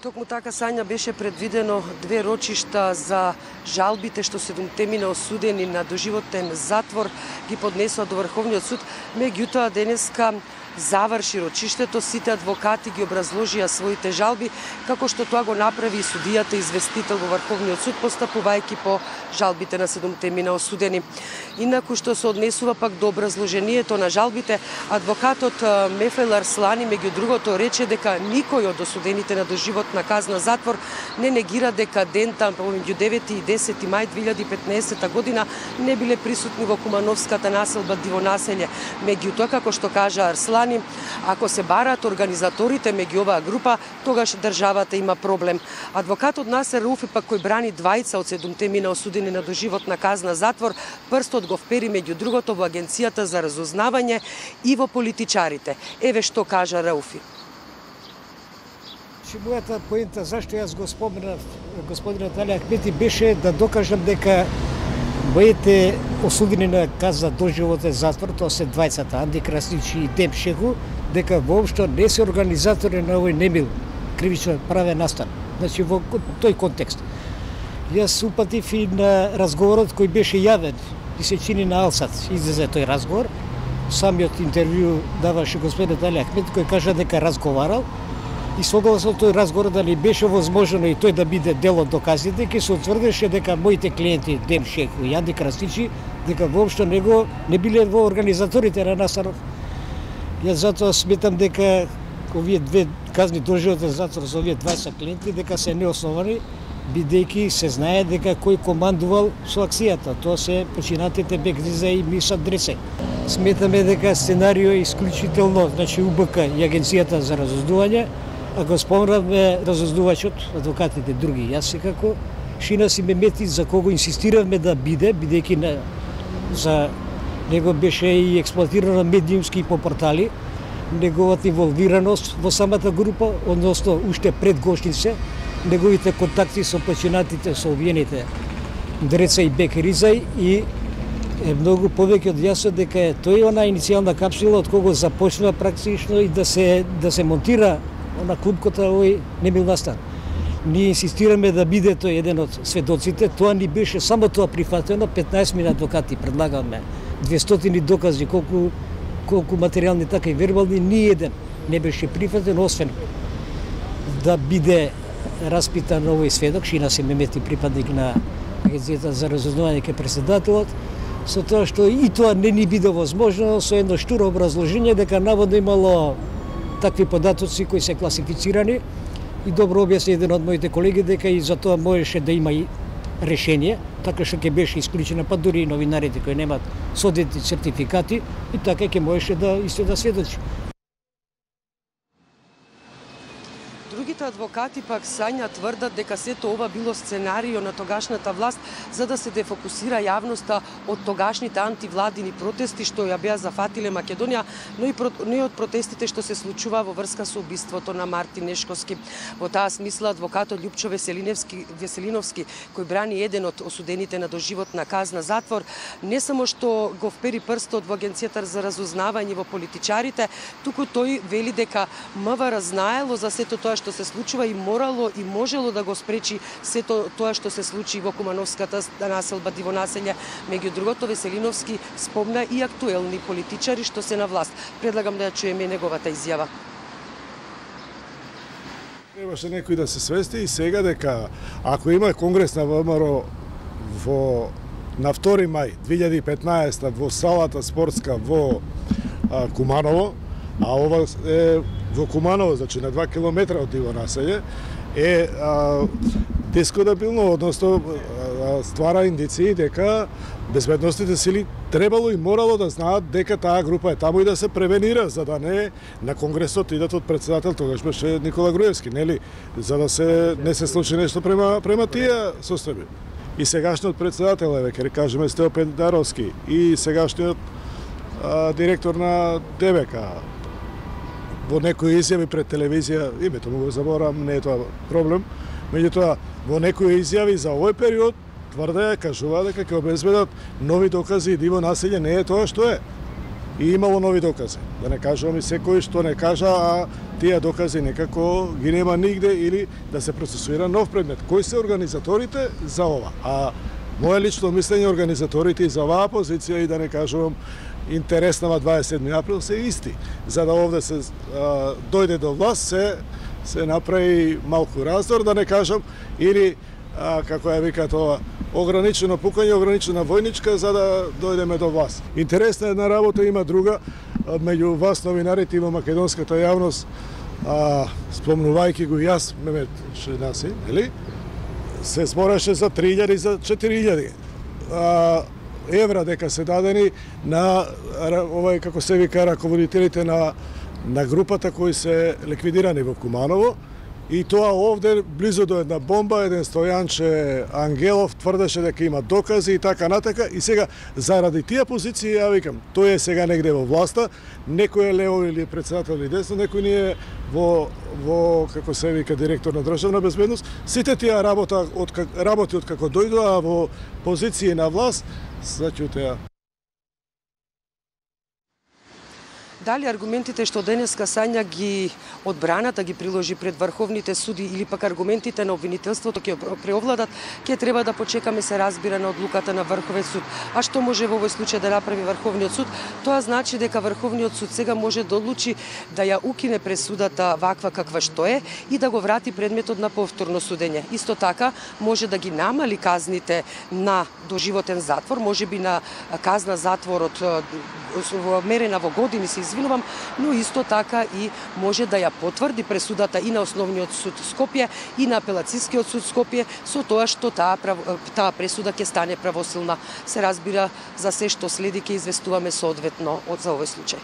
Токму така, Сања, беше предвидено 2 рочишта за жалбите што 7 мина осудени на доживотен затвор ги поднесоа до Врховниот суд. Меѓутоа денеска заврши рочиштето, сите адвокати ги образложија своите жалби, како што тоа го направи и судијата известител во Врховниот суд, постапувајќи по жалбите на 7 мина осудени. Инаку што се однесува пак до образложението на жалбите, адвокатот Мефел Арслани меѓу другото рече дека никој од осудените на доживотна казна затвор не негира дека дента помеѓу 9 и 10 мај 2015 година не биле присутни во Кумановската населба Дивонаселје. Меѓутоа, како што кажа Арслани, ако се бараат организаторите меѓу оваа група, тогаш државата има проблем. Адвокатот Насер Рауфи пак, кој брани двајца од 7 мина осудени на доживотна казна затвор, прстот го впери меѓу другото во Агенцијата за разузнавање и во политичарите. Еве што кажа Рауфи. Мојата поента зашто јас го споменав господинот Али Ахмети беше да докажам дека моите осудени на казна доживотен затвор, тоа се двајцата Анди Краснич и Дем Шеху, дека воопшто не се организатори на овој немил кривично правен настан. Значи во тој контекст. Јас упатив и на разговорот кој беше јавен и се чини на Алсат. Излезе тој разговор. Самиот интервју даваше господинот Али Ахмети, кој кажа дека разговарал и согласно тој разговор дали беше возможно и тој да биде дел од доказите, ќе се утврдеше дека моите клиенти Дем Шеху и Анди Красничи дека воопшто не биле во организаторите на настанов. Јас затоа сметам дека овие 2 казни доживотен затвор за овие 20 клиенти дека се неосновани, бидејќи се знае дека кој командувал со акцијата. Тоа се починатите Бекриза и Миша Дресе. Сметаме дека сценарио е исклучително, значи УБК и Агенцијата за разузнавање, а го спомнавме разузнавачот, адвокатите други, јас секако, Шина Симемети, за кого инсистиравме да биде, бидејќи за него беше и експлоатирано медиумски по портали, неговата инволвираност во самата група, односно уште пред Гошнице, неговите контакти со починатите, со обвиените Дреца и Бекризај и е многу повеќе од јасно дека е тој она иницијална капсула од кого започнува практично и да се монтира на клупката овој немил настан. Ние инсистираме да биде тој еден од сведоците, тоа ни беше само тоа прифатено, 15 мина адвокати предлагаме, 200 докази, колку материјални така и вербални, ни еден не беше прифатен, освен да биде распитан овој сведок, Шина Симемети, припадник на Агенцијата за разузнавање ке председателот, со тоа што и тоа не ни биде возможно, со едно штуро образложение дека наводно имало такви податоци кои се класифицирани и добро објасни еден од моите колеги дека и за тоа можеше да има и решение, така што ќе беше исклучена, па дури и новинарите кои немаат соодветни сертификати и така ќе можеше да исто да сведочи. Другите адвокати пак, Сања, тврдат дека сето ова било сценарио на тогашната власт за да се дефокусира јавноста од тогашните антивладини протести што ја беа зафатиле Македонија, но и од протестите што се случува во врска со убиството на Мартин Нешковски. Во таа смисла адвокатот Љупчо Веселиновски, кој брани еден од осудените на доживотна казна затвор, не само што го впери прстот во Агенцијата за разузнавање во политичарите, туку тој вели дека МВР знаело за сето тоа што се случува и морало и можело да го спречи сето тоа што се случи во Кумановската населба Дивонаселје. Меѓу другото, Веселиновски спомна и актуелни политичари што се на власт. Предлагам да ја чуеме неговата изјава. Требаше некој да се свести и сега дека ако има конгрес на ВМРО на 2 мај 2015 во салата спортска во Куманово, а ова е во Куманово, значи на 2 километра од Дивонаселје, е дискутабилно, односно ствара индиции дека безбедносните сили требало и морало да знаат дека таа група е таму и да се превенира, за да не на конгресот идат од председател, тогаш беше Никола Груевски, нели, за да не се случи нешто према тие состојби. И сегашниот председател, ќе кажеме Стео Пендаровски, и сегашниот директор на ДБК, во некои изјави пред телевизија, името му го заборам, не е тоа проблем, меѓутоа во некои изјави за овој период тврдеа, кажуваа дека ќе обезбедат нови докази и Дивонаселје не е тоа што е. и имало нови докази. Да не кажувам и секој што не кажа, а тие докази некако ги нема нигде или да се процесуира нов предмет. Кои се организаторите за ова? А моје лично мислење, организаторите за оваа позиција и да не кажувам интерес на 27 април се исти. За да овде се дојде до власт, се направи малку раздор, да не кажам, или како ја викаат ова, ограничено пукање, ограничена војничка за да дојдеме до власт. Интересна една работа, има друга, меѓу вас новинарите и во македонската јавност, спомнувајќи го јас, Мемет Шенаси, нели? Се збореше за 3000 и за 4000 евра дека се дадени на овај, како се вика, раководителите на групата кои се ликвидирани во Куманово. И тоа овде, близо до една бомба, еден Стојанче Ангелов тврдеше дека има докази и така натака. И сега, заради тие позиции, ја викам, тој е сега негде во власта, некој е лево или председател или десно, некој не е во како се вика, директор на државна безбедност. Сите тие работи од како дојдоа во позиции на власт, заќутеа. Дали аргументите што денеска Сања ги одбраната ги приложи пред врховните суди или пак аргументите на обвинителството ќе преовладат, ќе треба да почекаме, се разбира, на одлуката на Врховен суд. А што може во овој случај да направи Врховниот суд? Тоа значи дека Врховниот суд сега може да одлучи да ја укине пресудата ваква каква што е и да го врати предметот на повторно судење. Исто така може да ги намали казните на доживотен затвор, можеби на казна затвор од мерена во години, се извинувам, но исто така и може да ја потврди пресудата и на Основниот суд Скопје и на Апелацискиот суд Скопје со тоа што таа пресуда ќе стане правосилна. Се разбира, за се што следи ќе известуваме соодветно за овој случај.